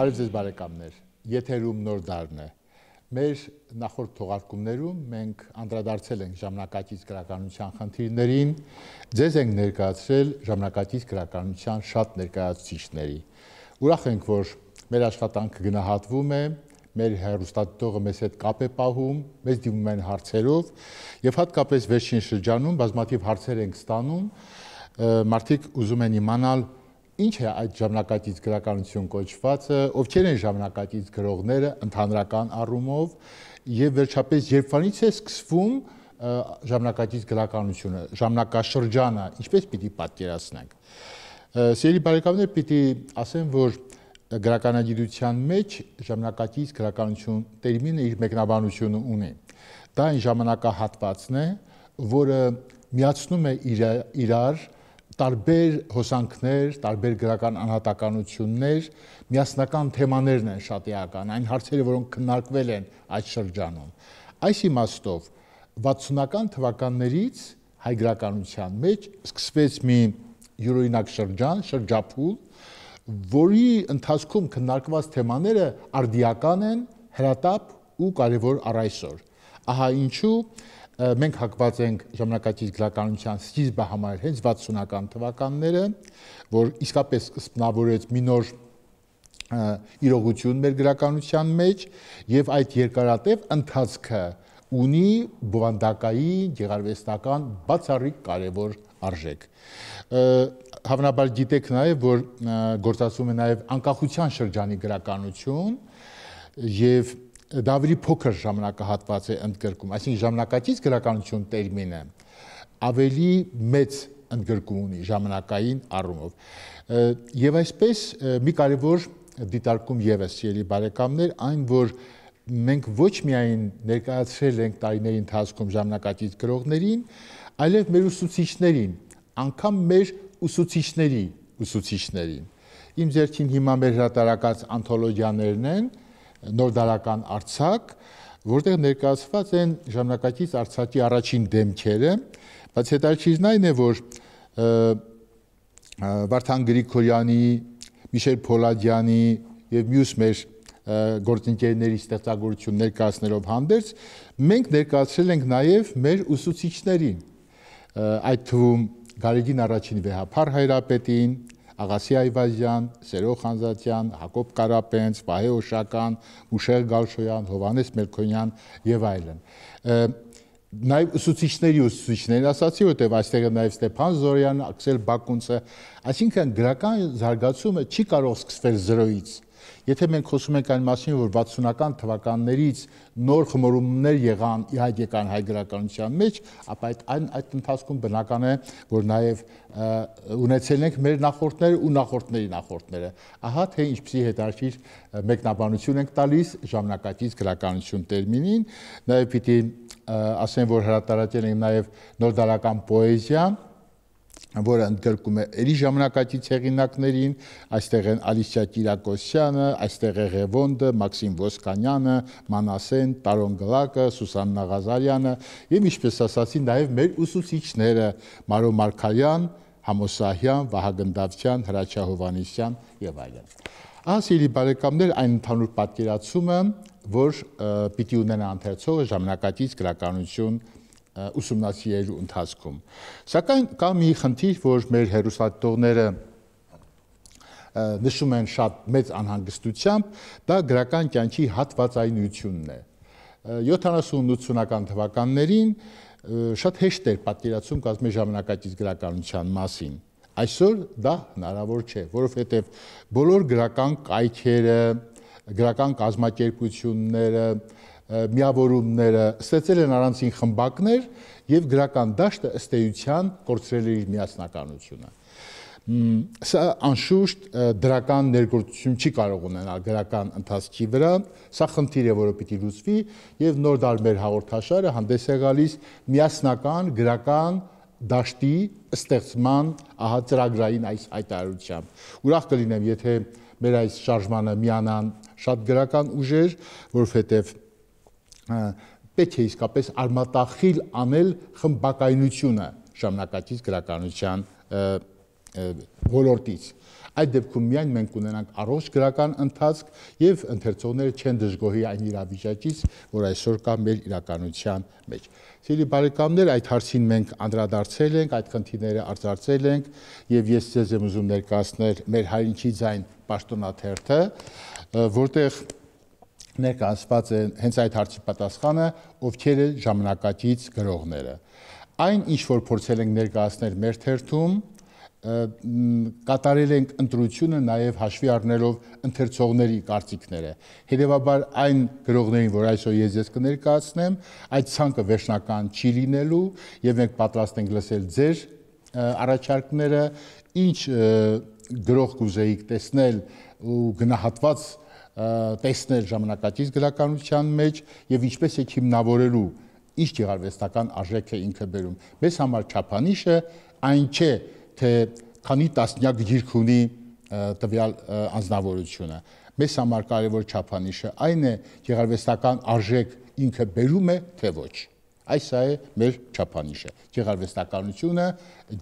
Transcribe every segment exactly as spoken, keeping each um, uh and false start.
Բարև ձեզ բարեկամներ, եթերում նոր դարն է։ Մեր նախորդ թողարկումներում մենք անդրադարձել ենք ժամանակակից գրականության խնդիրներին, ձեզ ենք ներկայացրել ժամանակակից գրականության շատ ներկայացուցիչների։ Ուրախ ենք, որ մեր աշխատանքը գնահատվում է, մեր հեռուստադիտողը մեզ հետ կապ է պահում, մեզ դիմում են հարցերով եւ հատկապես վերջին շրջանում բազմաթիվ հարցեր ենք ստանում, մարդիկ ուզում են իմանալ ինչ է այդ ժամանակակից գրականություն կոչվածը, ովքեր են ժամանակակից գրողները ընդհանրական առումով եւ վերջապես երբվանից է սկսվում ժամանակակից գրականությունը, ժամանակաշրջանը, ինչպես պիտի պատկերացնենք։ Սիրելի բարեկամներ, պիտի ասեմ, որ գրականագիտության մեջ ժամանակակից գրականություն տերմինը իր մեկնաբանությունը ունի։ Դա այն ժամանակահատվածն է, որը միացնում է իրար տարբեր հոսանքներ, տարբեր գրական անհատականություններ, միասնական թեմաներն են շատ էական, այն հարցերը, որոնք քննարկվել են այդ շրջանում։ Այս իմաստով վաթսունական թվականներից հայ գրականության մեջ սկսվեց մի յուրօրինակ շրջան, շրջափուլ, որի ընթացքում քննարկված թեմաները արդիական են, հրատապ ու կարևոր առ այսօր։ Ահա ինչու մենք հակված ենք ժամանակակից գրականության սկիզբը համարել հենց վաթսունական թվականները, որ իսկապես սկզբնավորեց մի նոր իրողություն մեր գրականության մեջ եւ այդ երկարատև ընթացքը ունի բովանդակային, գեղարվեստական բացառիկ կարևոր արժեք։ Հավանաբար գիտեք նաեւ, որ գործածվում է նաեւ անկախության շրջանի գրականություն եւ դա ավելի փոքր ժամանակահատված է ընդգրկում, այսինքն ժամանակակից գրականություն տերմինը ավելի մեծ ընդգրկում ունի ժամանակային առումով։ Եվ այսպես մի կարևոր դիտարկում եւս, սիրելի բարեկամներ, այն որ մենք ոչ միայն ներկայացրել ենք տարիների ընթացքում ժամանակակից գրողներին, այլև մեր ուսուցիչներին, անգամ մեր ուսուցիչների ուսուցիչներին։ Իմ ձեռքին հիմա մեր հրատարակած անթոլոգիաներն են, նոր դարական արձակ, որտեղ ներկայացված են ժամանակակից արձակի առաջին դեմքերը, բայց հետաքրքիրն այն է, որ Վարդան Գրիգորյանի, Միշել Փոլադյանի եւ մյուս մեր գործընկերների ստեղծագործություն ներկայացնելով հանդերձ, մենք ներկայացրել ենք նաեւ մեր ուսուցիչներին, այդ թվում Գարեգին առաջին Վեհափար Հայրապետին, Աղասի Այվազյան, Սերո Խանզատյան, Հակոբ Կարապենց, Վահե Օշական, Մուշեղ Գալշոյան, Հովհաննես Մելքոնյան եւ այլն։ Նաեւ ուսուցիչների ուսուցիչներին ասացի, որտեղ այստեղ է նաեւ Ստեփան Զորյանը, Աքսել Բակունցը, այսինքն գրական զարգացումը չի կարող սկսվել զրոյից։ Եթե մենք խոսում ենք այն մասին, որ վաթսունական թվականներից նոր խմորումներ եղան, իհայտ եկան հայ գրականության մեջ, ապա այդ այն այդ ընթացքում բնական է, որ նաև ունեցել ենք մեր նախորդները ու նախորդների նախորդները։ Ահա թե ինչպիսի հետաքրքիր մեկնաբանություն ենք տալիս ժամանակակից գրականություն տերմինին, նաև պիտի ասեմ, որ հրատարակել ենք նաև նոր դարական պոեզիա, որը ընդգրկում է էլի ժամանակակից հեղինակներին, այստեղ են Ալիսիա Կիրակոսյանը, այստեղ է Ղևոնդը, Մաքսիմ Ոսկանյանը, Մանասեն, Տարոն Գլակը, Սուսաննա Ղազարյանը եւ ինչպես ասացի, նաեւ մեր ուսուցիչները Մարո Մարգարյան, Համոսահյան, Վահագն Դավթյան, Հրաչյա Հովհաննիսյան եւ այլն։ Ահա սիրելի բարեկամներ, այն ընդհանուր պատկերացումը, որ պիտի ունենա ընթերցողը ժամանակակից գրականություն ուսումնասիրելու ընթացքում։ Սակայն կա մի խնդիր, որ մեր հեռուստադիտողները նշում են շատ մեծ անհանգստությամբ, դա գրական կյանքի հատվածայնությունն է։ յոթանասուն ութսունական թվականներին շատ հեշտ էր պատկերացում կազմել ժամանակակից գրականության մասին։ Այսօր դա հնարավոր չէ, որովհետև բոլոր գրական կայքերը, գրական կազմակերպությունները, միավորումները ստեղծել են առանձին խմբակներ եւ գրական դաշտը ըստ էության կորցրել է իր միասնականությունը։ Սա անշուշտ դրական ներգործություն չի կարող ունենալ գրական ընթացքի վրա, սա խնդիր է, որը պիտի լուծվի եւ նոր դար մեր հաղորդաշարը հանդես է գալիս միասնական գրական դաշտի ստեղծման ահա ծրագրային այս հայտարարությամբ։ Ուրախ կլինեմ, եթե մեր այս շարժմանը միանան շատ գրական ուժեր, որովհետեւ պետք է իսկապես արմատախիլ անել խմբակայնությունը ժամանակակից գրականության ոլորտից։ Այդ դեպքում միայն մենք ունենանք առողջ գրական ընթացք եւ ընթերցողները չեն դժգոհի այն իրավիճակից, որ այսօր կա մեր իրականության մեջ։ Սիրելի բարեկամներ, այդ հարցին մենք անդրադարձել ենք, այդ խնդիրները արձարծել ենք եւ ես ձեզ եմ ուզում ներկայացնել մեր հայրենիքի ձայն պաշտոնաթերթը, որտեղ ներկայացված է հենց այդ հարցի պատասխանը, ովքեր են ժամանակակից գրողները։ Այն, ինչ որ փորձել ենք ներկայացնել մեր թերթում, կատարել ենք ընտրությունը նաև հաշվի առնելով ընթերցողների կարծիքները։ Հետևաբար այն գրողներին, որ այսօր ես ձեզ կներկայացնեմ, այդ ցանկը վերջնական չի լինելու եւ մենք պատրաստ ենք լսել ձեր առաջարկները, ինչ գրող կուզեիք տեսնել ու գնահատված տեսնել ժամանակակից գրականության մեջ եւ ինչպես է հիմնավորելու ինչ գեղարվեստական արժեք է ինքը բերում։ Մեզ համար չափանիշը այն չէ, թե քանի տասնյակ գիրք ունի տվյալ անձնավորությունը։ Մեզ համար կարևոր չափանիշը այն է, գեղարվեստական արժեք ինքը բերում է, թե ոչ։ Այս է մեր չափանիշը։ Գեղարվեստականությունը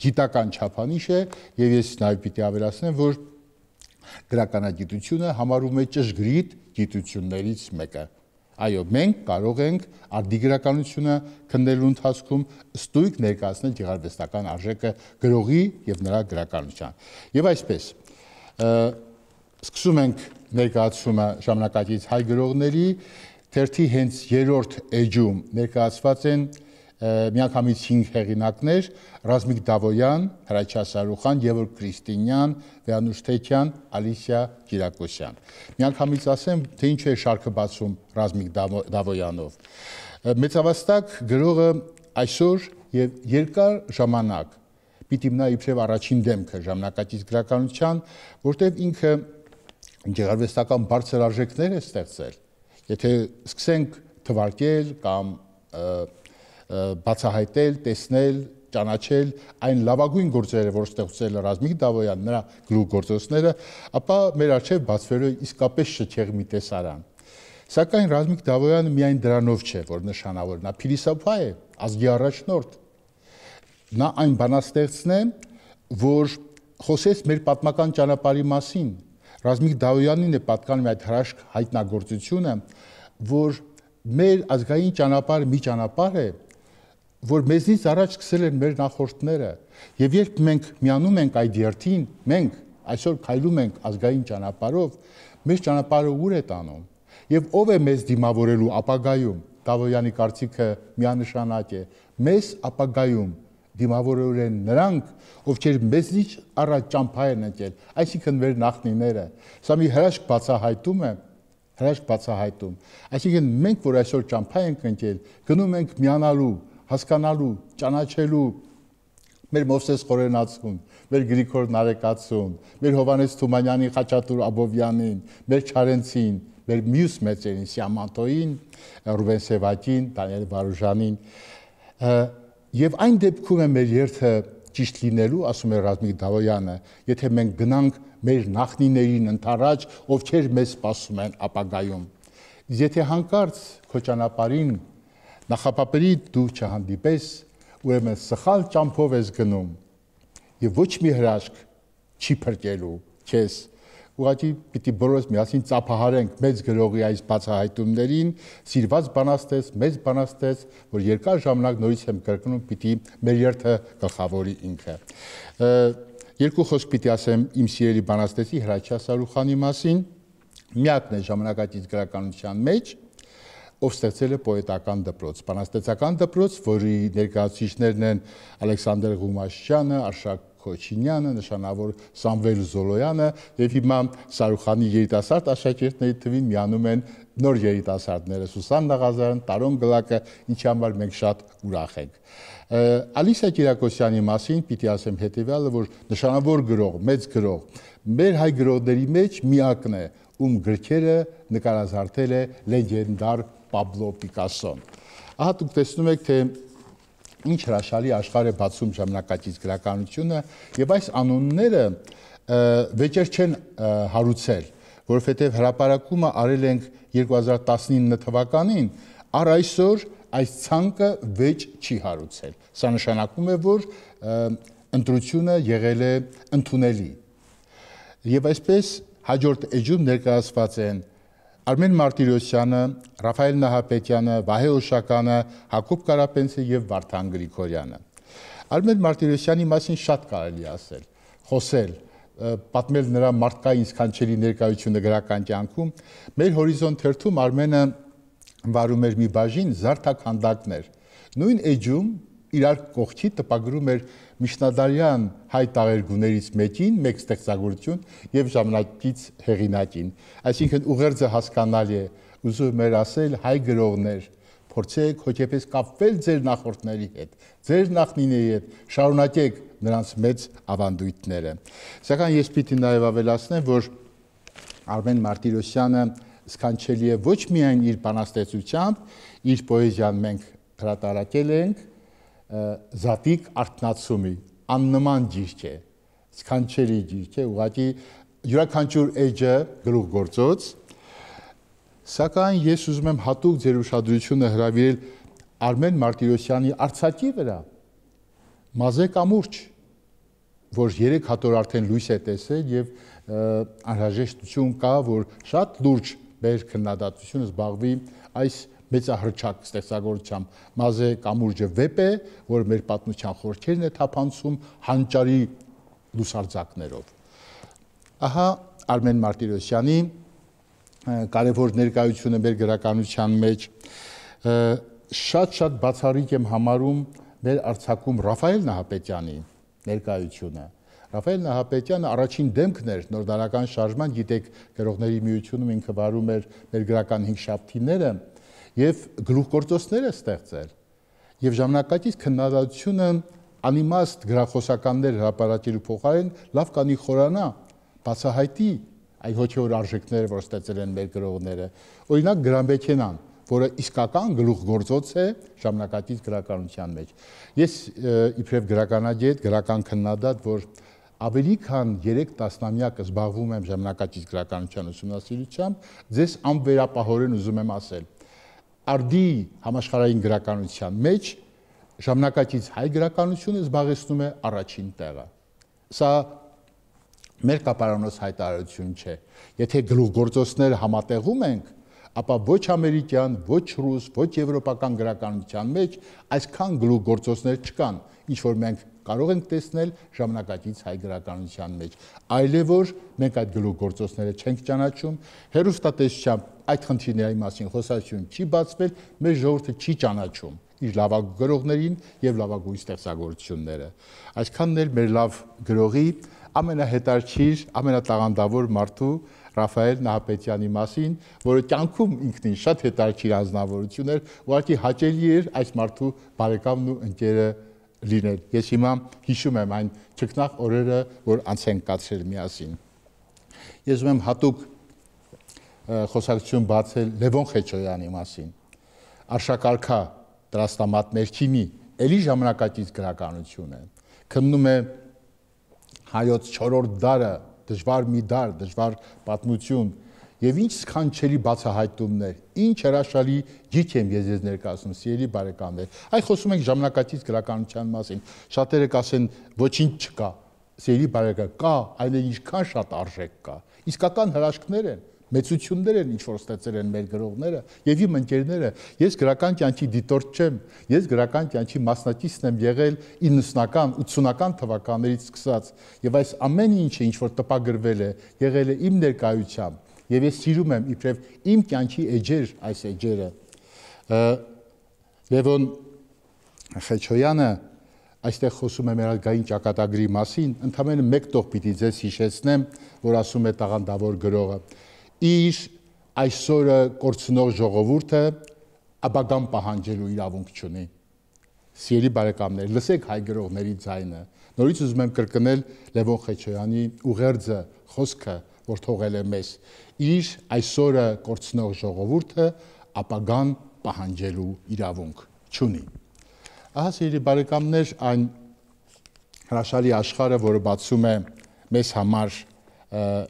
գիտական չափանիշ է եւ ես նաեւ պիտի ավելացնեմ, որ գրականագիտությունը համարում է ճշգրիտ գիտություններից մեկը։ Այո, մենք կարող ենք արդի գրականությունը քննելու ընթացքում ստույգ ներկայացնել գեղարվեստական արժեքը գրողի եւ նրա գրականության։ Եվ այսպես, սկսում ենք ներկայացումը ժամանակակից հայ գրողների, թերթի հենց երրորդ էջում ներկայացված են միանգամից հինգ հեղինակներ՝ Ռազմիկ Դավոյան, Հրաչյա Սարուխան, Գևորգ Քրիստինյան, Վեանուշ Թեքյան, Ալիսիա Կիրակոսյան։ Միանգամից ասեմ, թե ինչ է շարքը բացում Ռազմիկ Դավոյանով։ Մեծավաստակ գրողը այսօր եւ երկար ժամանակ պիտի մնա իբրև առաջին դեմքը ժամանակակից գրականության, որտեղ ինքը գեղարվեստական բարձր արժեքներ է ստեղծել։ Եթե սկսենք թվարկել կամ բացահայտել, տեսնել, ճանաչել այն լավագույն գործերը, որ ստեղծել է Ռազմիկ Դավոյան, նրա գլուխգործոցները, ապա մեր առջև բացվելու է իսկապես շքեղ մի տեսարան։ Սակայն Ռազմիկ Դավոյանը միայն դրանով չէ, որ նշանավոր, նա փիլիսոփա է, ազգի առաջնորդ։ Նա այն բանաստեղծն է, որ խոսեց մեր պատմական ճանապարհի մասին։ Ռազմիկ Դավոյանին է պատկանում այդ հրաշք հայտնագործությունը, որ մեր ազգային ճանապարհը մի ճանապարհ է, որ մեզնից առաջ սկսել են մեր նախորդները, եւ երբ մենք միանում ենք այդ երթին, մենք այսօր քայլում ենք ազգային ճանապարհով, մեր ճանապարհը ուր է տանում, եւ ով է մեզ դիմավորելու ապագայում։ Դավոյանի կարծիքը միանշանակ է, մեզ ապագայում դիմավորել են նրանք, ովքեր մեզնից առաջ ճամփա են ընկել, այսինքն մեր նախնիները։ Սա մի հրաշք բացահայտում է, հրաշք բացահայտում։ Այսինքն մենք, որ այսօր ճամփա ենք ընկել, գնում ենք միանալու, հասկանալու, ճանաչելու մեր Մովսես Խորենացուն, մեր Գրիգոր Նարեկացուն, մեր Հովհաննես Թումանյանին, Խաչատուր Աբովյանին, մեր Չարենցին, մեր մյուս մեծերին, Սիամատոին, Ռուբեն Սևակին, Դանիել Վարուժանին, եւ այն դեպքում է մեր երթը ճիշտ լինելու, ասում է Ռազմիկ Դավոյանը, եթե մենք գնանք մեր նախնիներին ընթառաջ, ովքեր մեզ սպասում են ապագայում։ Եթե հանկարծ քո ճանապարհին նախապապերի դու չհանդիպես, ուրեմն սխալ ճամփով ես գնում եւ ոչ մի հրաշք չի փրկելու քեզ։ Ուղղակի պիտի բոլորս միասին ծափահարենք մեծ գրողի այս բացահայտումներին, սիրված բանաստեղծ, մեծ բանաստեղծ, որ երկար ժամանակ նորից եմ կրկնում, պիտի մեր երթը գլխավորի ինքը։ Երկու խոսք պիտի ասեմ իմ սիրելի բանաստեղծի Հրաչյա Սարուխանի մասին, միակն է ժամանակակից գրականության մեջ, ով ստեղծել է պոետական դպրոց, բանաստեղծական դպրոց, որի ներկայացուցիչներն են Ալեքսանդր Ղումաշյանը, Արշակ Քոչինյանը, նշանավոր Սամվել Զոլոյանը եւ հիմա Սարուխանի երիտասարդ աշակերտների թվին միանում են նոր երիտասարդները Սուսան Նաղազարյան, Տարոն Գլակը, ինչի համար մենք շատ ուրախ ենք։ Ալիսիա Կիրակոսյանի մասին պիտի ասեմ հետեւյալը, որ նշանավոր գրող, մեծ գրող, մեր հայ գրողների մեջ միակն է, ում գրքերը նկարազարդել է լեգենդար Պաբլո Պիկասոն։ Ահա դուք տեսնում եք, թե ինչ հրաշալի աշխարհ է բացում ժամանակակից գրականությունը, եւ այս անունները վեճեր չեն հարուցել, որովհետեւ հրապարակումը արել ենք երկու հազար տասնինը թվականին, առ այսօր այս ցանկը վեճ չի հարուցել։ Սա նշանակում է, որ ընտրությունը եղել է ընդունելի։ Եվ այսպես հաջորդ էջում ներկայացված են Արմեն Մարտիրոսյանը, Ռաֆայել Նահապետյանը, Վահե Օշականը, Հակոբ Կարապետյանը եւ Վարդան Գրիգորյանը։ Արմեն Մարտիրոսյանի մասին շատ կարելի ասել, խոսել, պատմել նրա մարդկային սքանչելի ներկայությունը գրական կյանքում։ Մեր հորիզոն թերթում Արմենը վարում էր մի բաժին զարդաքանդակներ։ Նույն էջում իրար կողքի տպագրում էր միջնադարյան հայ տաղերգուներից մեկին, մեկ ստեղծագործություն եւ ժամանակից հեղինակին։ Այսինքն ուղերձը հասկանալի է, ուզում էր ասել հայ գրողներ, փորձեք հոգեպես կապվել ձեր նախորդների հետ, ձեր նախնիների հետ, շարունակեք նրանց մեծ ավանդույթները։ Սակայն ես պիտի նաև ավելացնեմ, որ Արմեն Մարտիրոսյանը սքանչելի է ոչ միայն իր բանաստեղծությամբ, իր պոեզիան մենք հրատարակել ենք Զատիկ Արթնացումի աննման գիրք է, սքանչելի գիրք է, ուղղակի յուրաքանչյուր էջը գլուխգործոց, սակայն ես ուզում եմ հատուկ ձեր ուշադրությունը հրավիրել Արմեն Մարտիրոսյանի արձակի վրա, Մազե կամուրջ, որ երեք հատոր արդեն լույս է տեսել եւ անհրաժեշտություն կա, որ շատ լուրջ մեր քննադատությունը զբաղվի այս մեծահրճակ ստեղծագործությամբ։ Մազե կամուրջը վեպ է, որ մեր պատմության խորքերն է թափանցում հանճարի լուսարձակներով։ Ահա Արմեն Մարտիրոսյանի կարևոր ներկայությունը մեր գրականության մեջ շատ-շատ բացառիկ եմ համարում մեր արձակում Ռաֆայել Նահապետյանի ներկայությունը։ Ռաֆայել Նահապետյանը առաջին դեմքն էր նորդարական շարժման, գիտեք, գրողների միությունում ինքը վարում էր մեր գրական հինգշաբթիները եւ գլուխգործոցներ է ստեղծել։ Եվ ժամանակակից քննադատությունը անիմաստ գրախոսականներ հրապարակելու փոխարեն լավ կանի խորանա, բացահայտի այ հոգեոր արժեքները, որ ստեղծել են մեր գրողները։ Օրինակ Գրամբեկենան, որը իսկական գլուխգործոց է ժամանակակից գրականության մեջ։ Ես իբրև գրականագետ, գրական քննադատ, որ ավելի քան երեք տասնամյակ զբաղվում եմ ժամանակակից գրականության ուսումնասիրությամբ, ձեզ անվերապահորեն ուզում եմ ասել, արդի համաշխարհային գրականության մեջ ժամանակակից հայ գրականությունը զբաղեցնում է առաջին տեղը։ Սա մեր կապարանոց հայտարարություն չէ։ Եթե գլուխգործոցները համատեղում ենք, ապա ոչ ամերիկյան, ոչ ռուս, ոչ եվրոպական գրականության մեջ այսքան գլուխգործոցներ չկան, ինչ որ մենք կարող ենք տեսնել ժամանակակից հայ գրականության մեջ։ Այլ է որ մենք այդ գլուխգործոցները չենք ճանաչում, հեռուստատեսությամբ այդ խնդիրների մասին խոսակցություն չի բացվել, մեր ժողովուրդը չի ճանաչում իր լավագույն գրողներին եւ լավագույն ստեղծագործությունները։ Այսքանն էլ մեր լավ գրողի ամենահետաքրքիր, ամենատաղանդավոր մարդու Ռաֆայել Նահապետյանի մասին, որը կյանքում ինքնին շատ հետաքրքիր անձնավորություն էր, ուղղակի հաճելի էր այս մարդու բարեկամն ու ընկերը լինել։ Ես հիմա հիշում եմ այն ճգնախ օրերը, որ անց են կացրել միասին։ Ես ուզում եմ հատուկ խոսակցություն բացել Լևոն Խեչոյանի մասին։ Արշակարգա տրաստամատ ներքինի, էլի ժամանակակից գրականություն է։ Քննում է հայոց չորրորդ դարը, դժվար մի դար, դժվար պատմություն եւ ինչ սքանչելի բացահայտումներ, ինչ հրաշալի գիրք եմ ես ձեզ ներկայացնում, սիրելի բարեկամներ։ Այ խոսում ենք ժամանակակից գրականության մասին։ Շատերը կասեն ոչինչ չկա։ Սիրելի բարեկամ, կա, այն ինչքան շատ արժեք կա։ Իսկական հրաշքներ են, մեծություններ են, ինչ որ ստեղծել են մեր գրողները եւ իմ ընկերները։ Ես գրական կյանքի դիտորդ չեմ, ես գրական կյանքի մասնակիցն եմ եղել իննսունական, ութսունական թվականներից սկսած եւ այս ամեն ինչը ինչ որ տպագրվել է, եղել է իմ ներկայությամբ եւ ես սիրում եմ իբրև իմ կյանքի էջեր այս էջերը։ Լևոն Խեչոյանը այստեղ խոսում է մեր ազգային ճակատագրի մասին, ընդամենը մեկ տող պիտի ձեզ հիշեցնեմ, որ ասում է տաղանդավոր գրողը. իր այսօրը կորցնող ժողովուրդը ապագան պահանջելու իրավունք չունի։ Սիրելի բարեկամներ, լսեք հայ գրողների ձայնը։ Նորից ուզում եմ կրկնել Լևոն Խեչոյանի ուղերձը, խոսքը, որ թողել է մեզ։ Իր այսօրը կորցնող ժողովուրդը ապագան պահանջելու իրավունք չունի։ Ահա սիրելի բարեկամներ, այն հրաշալի աշխարհը, որը բացում է մեզ համար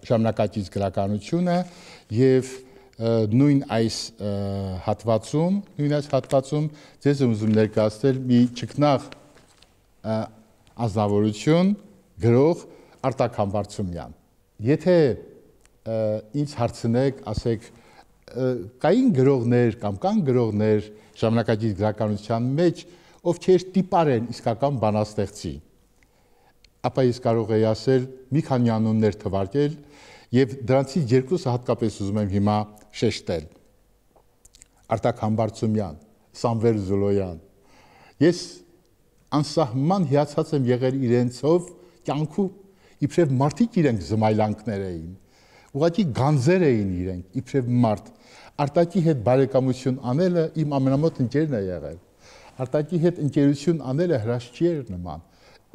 ժամանակակից գրականությունը եւ նույն այս հատվածում, նույն այս հատվածում ձեզ ուզում ներկայացնել մի ճգնաղ ազնվորություն գրող Արտակ Համբարձումյան։ եթե ինձ հարցնեք, ասեք, կային գրողներ կամ կան գրողներ ժամանակակից գրականության մեջ, ովքեր տիպար են իսկական բանաստեղծի, ապա ես կարող եի ասել մի քանի անուններ թվարկել եւ դրանցից երկուսը հատկապես ուզում եմ հիմա շեշտել. Արտակ Համբարձումյան, Սամվել Զոլոյան։ Ես անսահման հիացած եմ եղել իրենցով կյանքում, իբրև մարդիկ իրենք զմայլանքներ էին, ուղղակի գանձեր էին իրենք, իբրև մարդ։ Արտակի հետ բարեկամություն անելը իմ ամենամոտ ընկերն է եղել։ Արտակի հետ ընկերություն անելը հրաշքի էր նման։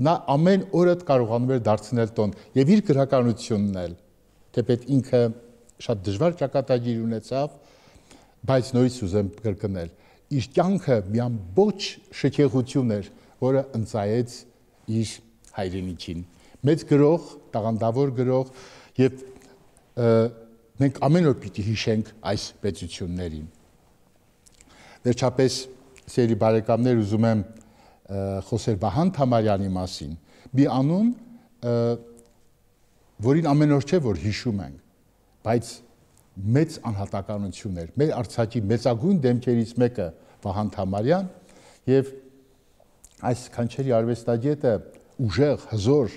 Նա ամեն օրը կարողանում էր դարձնել տոն եւ իր գրականությունն էլ, թեպետ ինքը շատ դժվար ճակատագիր ունեցավ, բայց նորից ուզեմ կրկնել, իր կյանքը մի ամբողջ շքեղություն էր, որը ընծայեց իր հայրենիքին։ Մեծ գրող, տաղանդավոր գրող եւ մենք ամեն օր պիտի հիշենք այս պետություններին։ Վերջապես, սիրելի բարեկամներ, ուզում եմ խոսել Վահան Թամարյանի մասին, մի անուն, որին ամեն օր չէ, որ հիշում ենք, բայց մեծ անհատականություն էր, մեր Արցախի մեծագույն դեմքերից մեկը Վահան Թամարյան, եւ այս կանչերի արվեստագետը ուժեղ, հզոր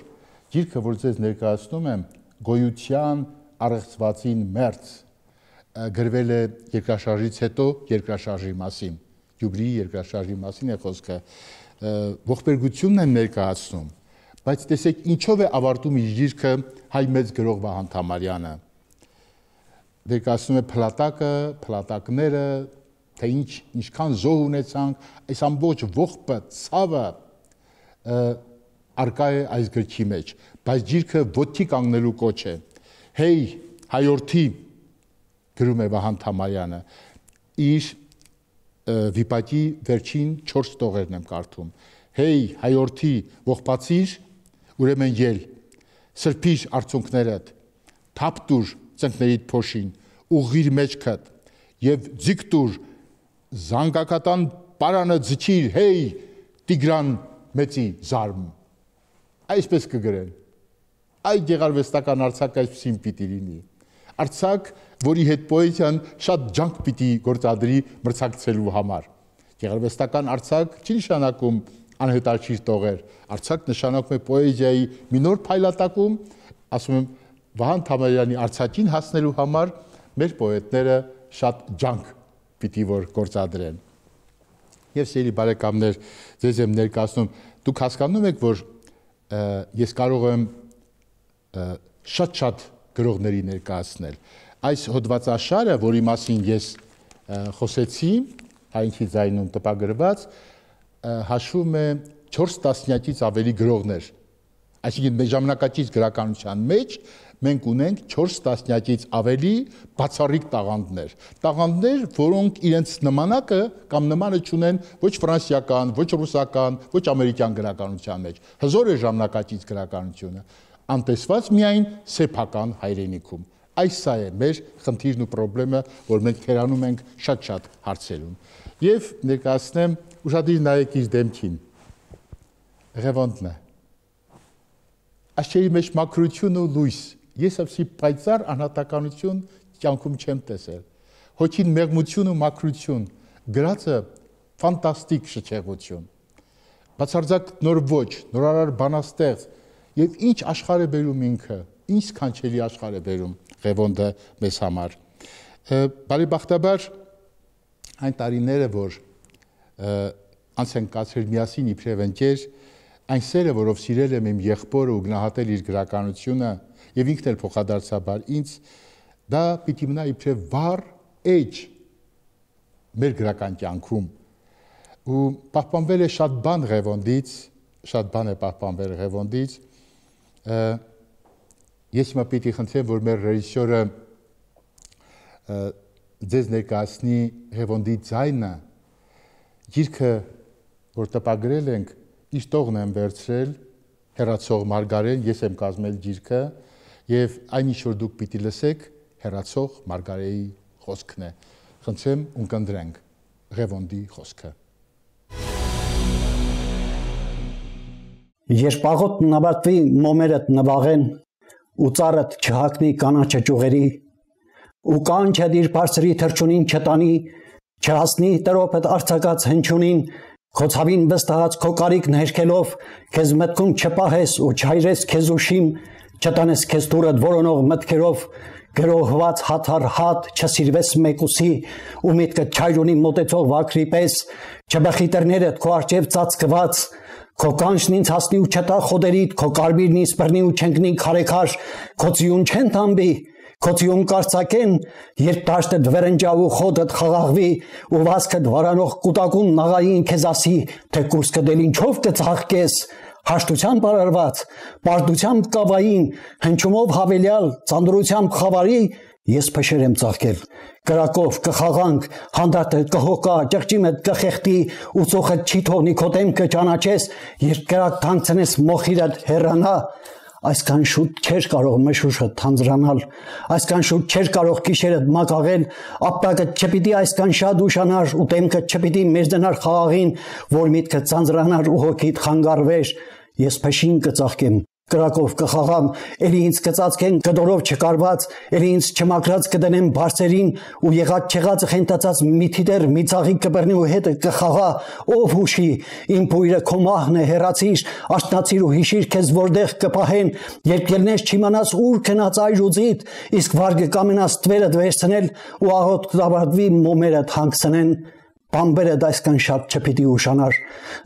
գիրքը, որ ձեզ ներկայացնում եմ, գոյության առեղծվածին մերձ, գրվել է երկրաշարժից հետո երկրաշարժի մասին, Գյումրիի երկրաշարժի մասին է խոսքը, ողբերգությունն են ներկայացնում, բայց տեսեք ինչով է ավարտում իր գիրքը հայ մեծ գրող Վահան Թամարյանը։ Ներկայացնում է փլատակը, փլատակները, թե ինչ ինչքան զոհ ունեցանք, այս ամբողջ ողբը, ցավը արկա է այս գրքի մեջ, բայց գիրքը ոտքի կանգնելու կոչ է։ Հեյ, հայորդի, գրում է Վահան Թամարյանը, իր վիպակի վերջին չորս տողերն եմ կարդում։ Հեյ, հայորդի, ողբացիր, ուրեմն ել, սրբիր արցունքներդ, թափ տուր ծնկներիդ փոշին, ուղղիր մեջքդ եւ ձիգ տուր զանգակատան պարանը ձգիր, հեյ, Տիգրան մեծի զարմ։ Այսպես կգրեն։ Այ գեղարվեստական Արցախ այսպեսին պիտի լինի։ Արցախ, որի հետ պոեզիան շատ ջանք պիտի գործադրի մրցակցելու համար։ Գեղարվեստական Արցախ չի նշանակում անհետաչիր տողեր։ Արցախ նշանակում է պոեզիայի մի նոր փայլատակում, ասում եմ, Վահան Թամարյանի Արցախին հասնելու համար մեր պոետները շատ ջանք պիտի որ գործադրեն։ Եվ սիրելի բարեկամներ, ձեզ եմ ներկայացնում, դուք հասկանում եք, որ ես կարող եմ շատ-շատ գրողների ներկայացնել։ Այս հոդվածաշարը, որի մասին ես խոսեցի, հայնքի ձայնում տպագրված, հաշվում է չորս տասնյակից ավելի գրողներ։ Այսինքն մեր ժամանակակից գրականության մեջ մենք ունենք չորս տասնյակից ավելի բացառիկ տաղանդներ։ Տաղանդներ, որոնք իրենց նմանակը կամ նմանը չունեն ոչ ֆրանսիական, ոչ ռուսական, ոչ ամերիկյան գրականության մեջ։ Հզոր է ժամանակակից գրականությունը, անտեսված միայն սեփական հայրենիքում։ Այս սա է մեր խնդիրն ու խնդրեմը, որ մենք քերանում ենք շատ-շատ հարցերում։ Եվ ներկայացնեմ, ուշադիր նայեք իր դեմքին։ Ղևոնդն է։ Աչքերի մեջ մաքրություն ու լույս։ Ես այսի պայծառ անհատականություն կյանքում չեմ տեսել։ Հոգին մեղմություն ու մաքրություն, գրածը ֆանտաստիկ շքեղություն։ Բացարձակ նոր ոճ, նորարար բանաստեղծ եւ ինչ աշխարհ է բերում ինքը, ինչ սքանչելի աշխարհ է բերում Ղևոնդը մեզ համար։ Բարեբախտաբար այն տարիները, որ անց են կացրել միասին իբրև ընկեր, այն սերը, որով սիրել եմ իմ եղբորը ու գնահատել իր գրականությունը եւ ինքն էլ փոխադարձաբար ինձ, դա պիտի մնա իբրև վառ էջ մեր գրական կյանքում։ Ու պահպանվել է շատ բան Ղևոնդից, շատ բան է պահպանվել Ղևոնդից։ Ես հիմա պիտի խնդրեմ, որ մեր ռեժիսորը ձեզ ներկայացնի Ղևոնդի ձայնը, գիրքը, որ տպագրել ենք, իր տողն եմ վերցրել, հեռացող Մարգարեն, ես եմ կազմել գիրքը, եւ այն ինչ որ դուք պիտի լսեք, հեռացող Մարգարեի խոսքն է։ Խնդրեմ ունկնդրենք Ղևոնդի խոսքը։ Երբ աղոթն նավարտվի մոմերդ նվաղեն, ու ծառդ չհակնի կանաչը ճյուղերի, ու կանչը դիր բարձրի թրջունին չտանի, չհասնի տրոփդ արձակած հնչյունին, քո ցավին վստահած քո կարիքն հերքելով, քեզ մտքում չպահես ու չհայրես քեզ ուշիմ, չտանես քեզ դուրդ որոնող մտքերով, գրոհված հաթար հատ չսիրվես մեկուսի, ու միտքը չայրունի մոտեցող վակրի պես, չբխիտրներդ քո արջև ծածկված, քո կանչն ինձ հասնի ու չտա խոդերիդ, քո կարմիրն ինձ բռնի ու չընկնի քարեքար, քո ծիուն չեն թամբի, քո ծիուն կարծակեն, երբ դաշտդ վրնջա ու խոդդ խաղաղվի, ու վազքդ վարանող կուտակուն նաղային քեզ ասի, թե կուրսքը դել ինչով կծաղկես, հաշտությամբ արարված, պարտությամբ կավային, հնչումով հավելյալ, ծանրությամբ խավարի, ես փշեր եմ ծաղկել, կրակով կխաղանք, հանդարտը կհոգա, ճղճիմդ կխեղտի, ու ծոխդ չի թողնի քո դեմքը ճանաչես, երբ կրակ թանցնես մոխիրդ հեռանա, այսքան շուտ չէր կարող մշուշը թանձրանալ, այսքան շուտ չէր կարող գիշերդ մակաղել, ապտակը չպիտի այսքան շատ ուշանար ու դեմքը չպիտի մեզդնար խաղաղին, որ միտքը ծանձրանար ու հոգիդ խանգարվեր, ես փշին կծաղկեմ, կրակով կխաղամ, էլի ինձ կծածկեն կդորով չկարված, էլի ինձ չմաքրած կդնեմ բարձերին ու եղած չեղածը խենթացած մի թիթեր մի ծաղիկ կբռնի ու հետը կխաղա, ով հուշի, իմ բույրը քո մահն է հեռացիր, աշտնացիր ու հիշիր քեզ որտեղ կպահեն, երբ ելնես չիմանաս ուր քնած այր ուծիդ, իսկ վարգը կամենաս տվերդ վերցնել ու աղոտ կդավարտվի մոմերդ հանգցնեն, Բամբերդ այսքան շատ չպիտի ուշանար,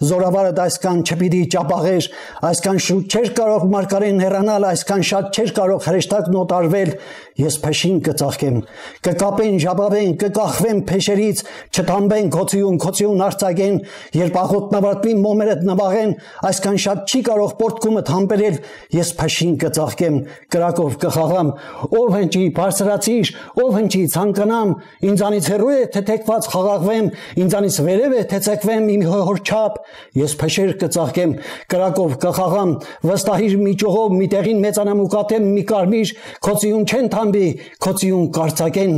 զորավարդ այսքան չպիտի ճապաղեր, այսքան շուտ չէր կարող մարգարեն հեռանալ, այսքան շատ չէր կարող հրեշտակն օտարվել, ես փշին կծաղկեմ, կկապեն, ժապավեն, կկախվեն փեշերից, չթամբեն քոցիուն, քոցիուն արձակեն, երբ աղոթն ավարտվի մոմերդ նվաղեն, այսքան շատ չի կարող պորտկումդ համբերել, ես փշին կծաղկեմ, կրակով կխաղամ, ով հնչի, բարձրացիր, ով հնչի, ցանկանամ, ինձանից հեռու է, թե թեքված խաղաղվեմ, ինձանից վերև է, թե ցեկվեմ իմ հորչապ, ես փշեր կծաղկեմ, կրակով կխաղամ, վստահիր մի ճողով, մի տեղին մեծանամ ու կատեմ մի կարմիր, քոցիուն չեն թամբի, քոցիուն կարծակեն,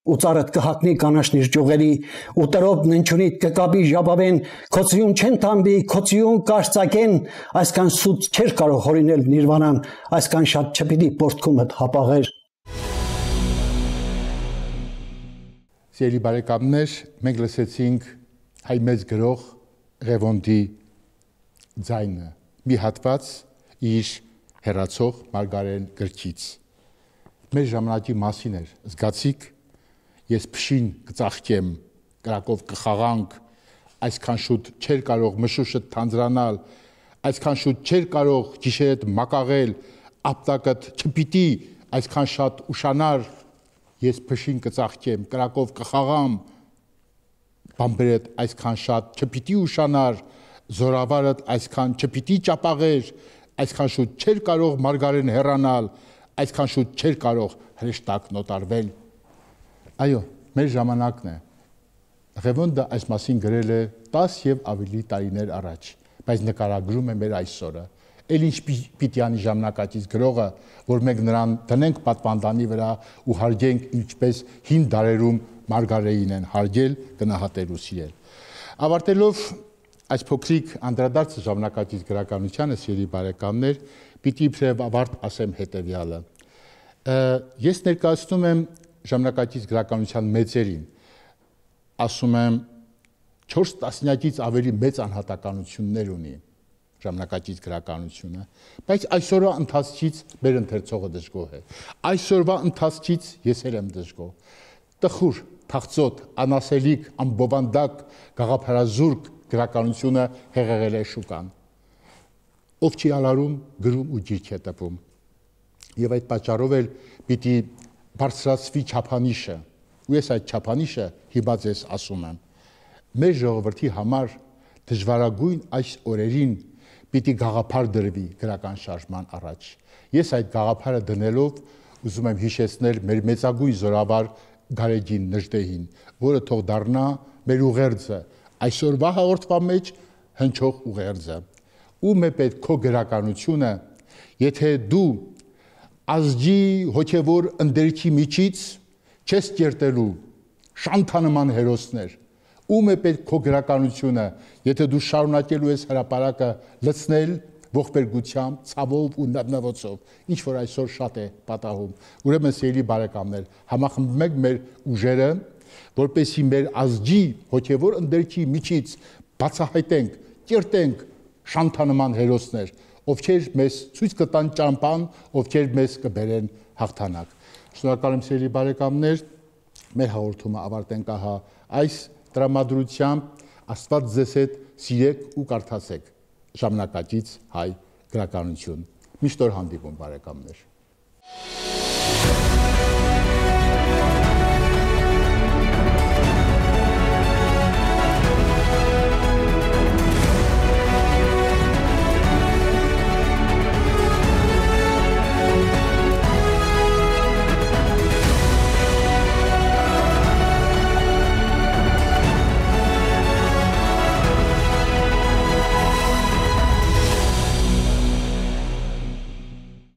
ու ծառդ կհակնի կանաչնիր ճյուղերի, ու տրոփն հնչյունիդ կկապի ժապավեն, քոցիուն չեն թամբի, քոցիուն կարծակեն, այսքան սուտ չէր կարող հորինել նիրվանան, այսքան շատ չպիտի պորտքումդ հապաղեր։ Սիրելի բարեկամներ, մենք լսեցինք հայ մեծ գրող Ղևոնդի ձայնը, մի հատված իր հեռացող Մարգարեն գրքից։ Մեր ժամանակի մասին էր, զգացիք, ես փշին կծաղկեմ, կրակով կխաղանք, այսքան շուտ չէր կարող մշուշը թանձրանալ, այսքան շուտ չէր կարող գիշերդ մակաղել, ապտակդ չպիտի այսքան շատ ուշանար, ես փշին կծաղկեմ, կրակով կխաղամ, բամբերդ այսքան շատ չպիտի ուշանար, զորավարդ այսքան չպիտի ճապաղեր, այսքան շուտ չէր կարող մարգարեն հեռանալ, այսքան շուտ չէր կարող հրեշտակն օտարվել։ Այո, մեր ժամանակն է։ Ղևոնդը այս մասին գրել է տաս եւ ավելի տարիներ առաջ, բայց նկարագրում է մեր այսօրը։ Էլ ինչ պիտի անի ժամանակակից գրողը, որ մենք նրան դնենք պատվանդանի վրա ու հարգենք ինչպես հին դարերում Մարգարեին են հարգել, գնահատել ու սիրել։ Ավարտելով այս փոքրիկ անդրադարձը ժամանակակից գրականությանը, սիրելի բարեկամներ, պիտի իբրև ավարտ ասեմ հետևյալը։ Ես ներկայացնում եմ ժամանակակից գրականության մեծերին, ասում եմ չորս տասնյակից ավելի մեծ անհատականություններ ունի ժամանակակից գրականությունը, բայց այսօրվա ընթացքից մեր ընթերցողը դժգոհ է։ Այսօրվա ընթացքից ես էլ եմ դժգոհ։ Տխուր, թախծոտ, անասելիք, ամբովանդակ, գաղափարազուրկ գրականությունը հեղեղել է շուկան։ Ով չի ալարում, գրում ու գիրք է տպում։ Եվ այդ պատճառով էլ պիտի բարձրացվի չափանիշը։ Ու ես այդ չափանիշը հիմա ձեզ ասում եմ։ Մեր ժողովրդի համար դժվարագույն այս օրերին պիտի գաղափար դրվի գրական շարժման առաջ։ Ես այդ գաղափարը դնելով ուզում եմ հիշեցնել մեր մեծագույն զորավար Գարեգին Նժդեհին, որը թող դառնա մեր ուղերձը, այսօրվա հաղորդման մեջ հնչող ուղերձը։ Ում է պետք քո գրականությունը, եթե դու ազգի հոգևոր ընդերքի միջից չես կերտելու շանթանման հերոսներ, ում է պետք քո գրականությունը, եթե դու շարունակելու ես հրապարակը լցնել ողբերգությամբ, ցավով ու նվոցով, ինչ որ այսօր շատ է պատահում։ Ուրեմն սիրելի բարեկամներ, համախմբենք մեր ուժերը, որպեսզի մեր ազգի հոգևոր ընդերքի միջից բացահայտենք, կերտենք շանթանման հերոսներ, ովքեր մեզ ցույց կտան ճամփան, ովքեր մեզ կբերեն հաղթանակ։ Շնորհակալ եմ սիրելի բարեկամներ, մեր հաղորդումը ավարտենք ահա այս տրամադրությամբ, Աստված ձեզ հետ սիրեք ու կարդացեք ժամանակակից հայ գրականություն։ Միշտ օր հանդիպում բարեկամներ։